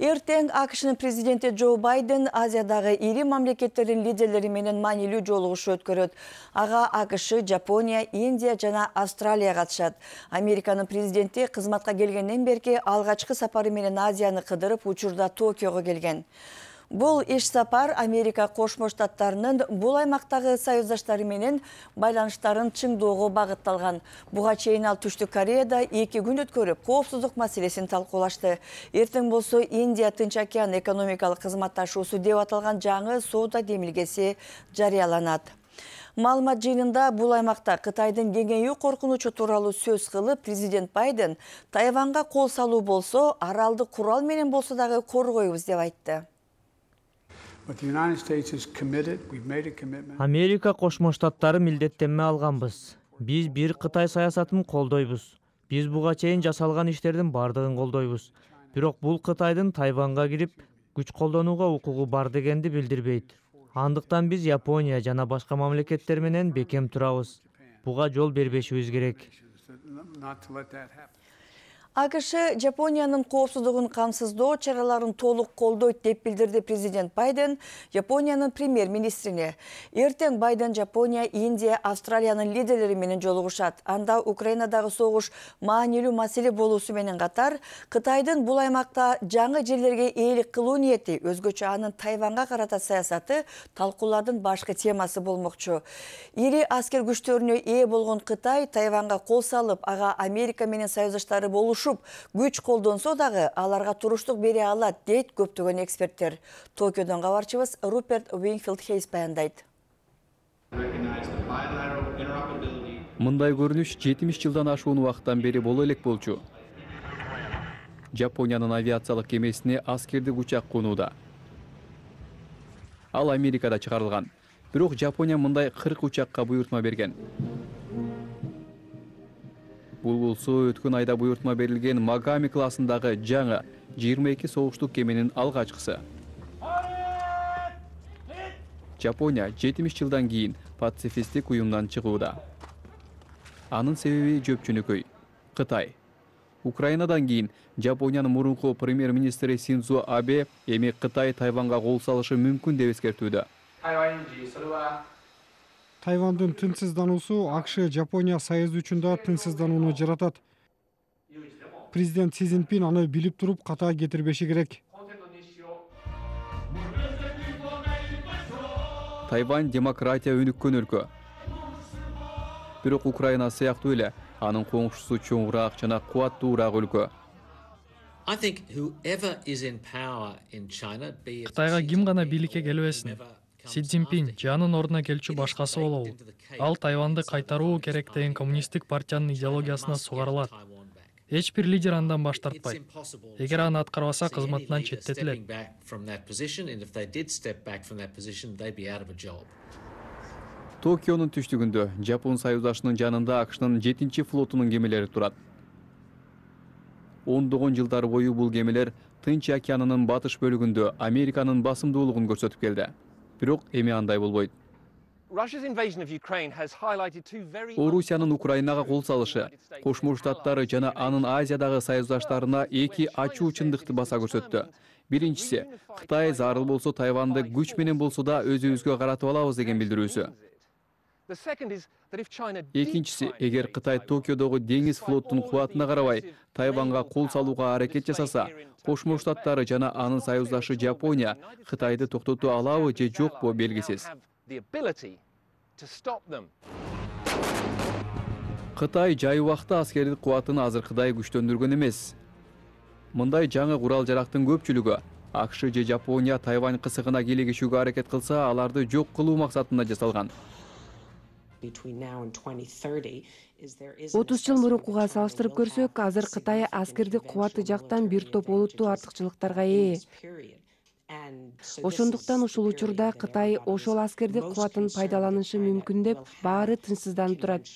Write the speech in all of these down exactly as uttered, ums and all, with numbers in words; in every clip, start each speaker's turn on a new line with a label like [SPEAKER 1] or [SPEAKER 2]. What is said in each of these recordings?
[SPEAKER 1] Эртең АКШнын президенти Джо Байден Азиядагы ири мамлекеттердин лидерлери менен маанилүү жолугушуу өткөрөт. Ага АКШ, Жапония, Индия жана Австралия катышат. Американын президенти кызматка келгенден берки алгачкы сапары менен Азияны кыдырып, учурда Токиого келген. Бул иш сапар Америка Кошмо Штаттарынын бул аймактагы союздаштары менен байланыштарын чыңдоого багытталган. Буга чейин ал Түштүк Кореяда эки күн өткөрүп, коопсуздук маселесин талкуулашты. Эртең болсо Индия Тынч океан экономикалык кызматташуусу деп аталган жаңы соода демилгеси жарыяланат. Маалымат жыйынында бул аймакта Кытайдын кеңейүү коркунучу тууралуу сөз кылып, президент Байден Тайванга кол салуу болсо, аралды курал менен болсо дагы коргойбуз деп айтты.
[SPEAKER 2] Америка Кошмо Штаттары милдеттенме алганбыз. Биз бир Кытай саясатын колдойбуз. Биз буга чейин жасалган иштердин бардыгын колдойбуз. Бирок бул Кытайдын Тайванга кирип күч колдонууга укугу бар дегенди билдирбейт. Андыктан биз Япония жана башка мамлекеттер менен бекем турабыз. Буга жол бербешибиз керек.
[SPEAKER 1] АКШ Жапониянын коопсуздугун камсыздоо чараларын толук колдойт деп билдирди президент Байден Япониянын премьер-министрине. Эртең Байден Жапония, Индия, Австралиянын лидерлери менен жолугушат. Анда Украинадагы согуш маанилүү маселе болуусу менен катар, Кытайдын бул аймакта жаңы жерлерге ээлик кылуу ниети, өзгөчө анын Тайванга карата саясаты талкуулардын башкы темасы болмокчу. Ири аскер күчтөрүнө ээ болгон Кытай Тайванга кол салып, ага Америка менен союздаштары болуш күч колдонсо дагы аларга туруштук бере алат, дейт көптөгөн эксперттер. Токиодон кабарчыбыз Руперт Уинфилд Хейс баяндайт.
[SPEAKER 3] Мындай көрүнүш жетимиш жылдан ашуун убакыттан бери боло элек болчу. Жапониянын авиациялык кемесине аскердик учак конууда. Ал Америкада чыгарылган. Бирок Жапония мындай кырк учакка буйртма берген. Бул болсо өткөн айда буйртма берилген Магами классындагы жаңы жыйырма эки согуштук кеменин алгачкысы. Жапония жетимиш жылдан кийин пацифисттик уюмдан чыгууда. Анын себеби жөпчүнүкөй — Кытай. Украинадан кийин Жапониянын мурунку премьер-министри Синдзо Абе эми Кытай Тайванга кол салышы мүмкүн деп эскертүүдө.
[SPEAKER 4] Тайвандын тынчсыздануусу АКШ Жапония союзу үчүн да тынчсызданууну жаратат. Президент Си Цзиньпин аны билип туруп ката кетирбеши керек.
[SPEAKER 3] Тайвань демократия өнүккөн өлкө. Бирок Украина сыяктуу эле анын коңшусу чоңураак жана кубаттуураак өлкө.
[SPEAKER 5] Кытайга ким гана бийликке келбесин, Си Цзиньпин же анын ордуна келчү башкасы болобу. Ал Тайванды кайтаруу керек деген коммунисттик партиянын идеологиясына сугарылат. Эч бир лидер андан баш тартпайт. Эгер аны аткарбаса, кызматынан четтетилет.
[SPEAKER 3] Токионун түштүгүндө Жапон союздашынын жанында АКШнын жетинчи флотунун кемелери турат. Ондогон жылдар бою бул кемелер Тынч океанынын батыш бөлүгүндө Американын басымдуулугун көрсөтүп келди. Бирок эми андай болбойт. Орусиянын Украинага кол салышы, Кошмо Штаттары жана анын Азиядагы союздаштарына эки ачуу чындыкты баса көрсөттү. Биринчиси, Кытай зарыл болсо Тайванды күч менен болсо да өзүбүзгө каратып алабыз деген билдирүүсү. Экинчиси, эгер Кытай Токиодогу деңиз флоттун кубатына карабай Тайванга кол салууга аракет жасаса, Кошмо Штаттары жана анын союздашы Жапония Кытайды токтото алабы же жокпу белгисиз. Кытай жай убакта аскердик кубатын азыркыдай күчтөндүргөн эмес. Мындай жаңы курал-жарактын көпчүлүгү АКШ же Жапония Тайвань кысыгына кийлигишүүгө аракет кылса, аларды жок кылуу максатында жасалган.
[SPEAKER 6] отуз жыл мурункуга салыштырып көрсөк, азыр Кытай аскердик кубаты жактан бир топ олуттуу артыкчылыктарга ээ. Ошондуктан ушул учурда Кытай ошол аскердик кубатын пайдаланышы мүмкүн деп баары тынчсызданып турат.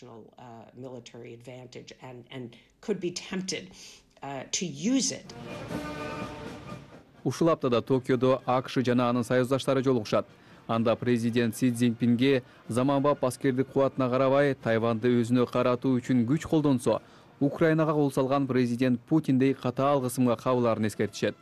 [SPEAKER 3] Ушул аптада Токиодо АКШ жана анын союздаштары жолугушат. Анда президент Си Цзиньпинге заманбап аскердик кубатына карабай Тайванды өзүнө каратуу үчүн күч колдонсо, Украинага кол салган президент Путиндей катаал кысымга кабыларын эскертишет.